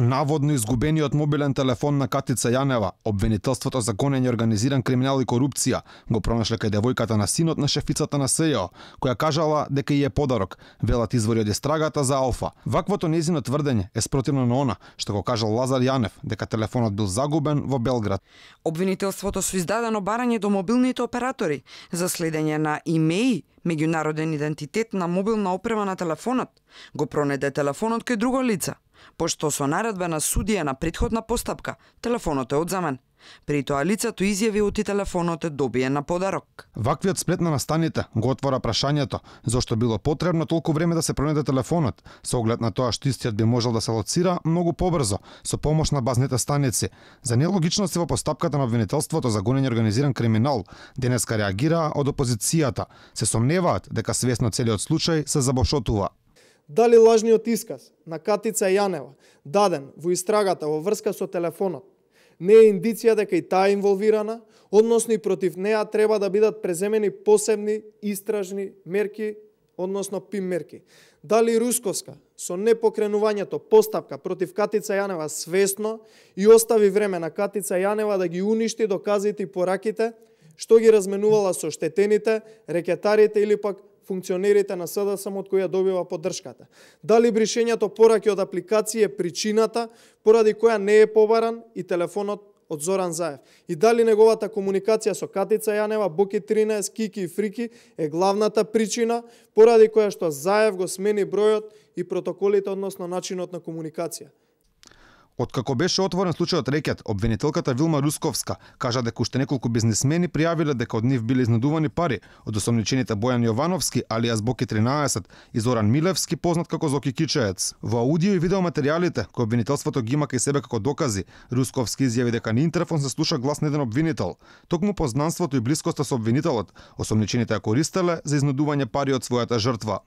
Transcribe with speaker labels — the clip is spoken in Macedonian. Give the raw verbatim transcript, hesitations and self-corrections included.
Speaker 1: Наводно изгубениот мобилен телефон на Катица Јанева, обвинителството за гонење организиран криминал и корупција, го пронашле кај девојката на синот на шефицата на СЈО, која кажала дека и е подарок, велат извори од истрагата за Алфа. Ваквото нејзино тврдење е спротивно на она што го кажал Лазар Јанев, дека телефонот бил загубен во Белград.
Speaker 2: Обвинителството со издадено барање до мобилните оператори за следење на имеи, меѓународен идентитет на мобилна опрема на телефонот, го пронеде телефонот кај друго лице, пошто со наредба на судија на претходна постапка, телефонот е одземен. При тоа лицето изјави оти телефонот е добиен на подарок.
Speaker 1: Ваквиот сплет на настаните го отвора прашањето зошто било потребно толку време да се пронеде телефонот, со оглед на тоа што истиот би можел да се лоцира многу побрзо со помош на базните станици. За нелогичности во постапката на обвинителството за гонење организиран криминал денеска реагираа од опозицијата. Се сомневаат дека свесно целиот случај се забошотува.
Speaker 3: Дали лажниот исказ на Катица Јанева, даден во истрагата во врска со телефонот, не е индиција дека и таа е инволвирана, односно и против неа треба да бидат преземени посебни истражни мерки, односно ПИМ мерки. Дали Русковска со непокренувањето постапка против Катица Јанева свесно и остави време на Катица Јанева да ги уништи доказите и пораките, што ги разменувала со штетените, рекетарите или пак функционерите на СДСМ од која добива поддршката. Дали бришењето пораки од апликација е причината поради која не е побаран и телефонот од Зоран Заев. И дали неговата комуникација со Катица Јанева, Боки тринаесет, Кики и Фрики е главната причина поради која што Заев го смени бројот и протоколите, односно начинот на комуникација.
Speaker 1: Откако беше отворен случајот рекет, обвинителката Вилма Русковска кажа дека уште неколку бизнисмени пријавиле дека од нив биле изнудувани пари од осомничените Бојан Јовановски, алијас Боки тринаесет, и Зоран Милевски, познат како Зоки Кичеец. Во аудио и видео материјалите, кои обвинителството ги има кај себе како докази, Русковски изјави дека на интерфон се слуша глас на еден обвинител. Токму познанството и блискоста со обвинителот, осомничените ја користеле за изнудување пари од својата жртва.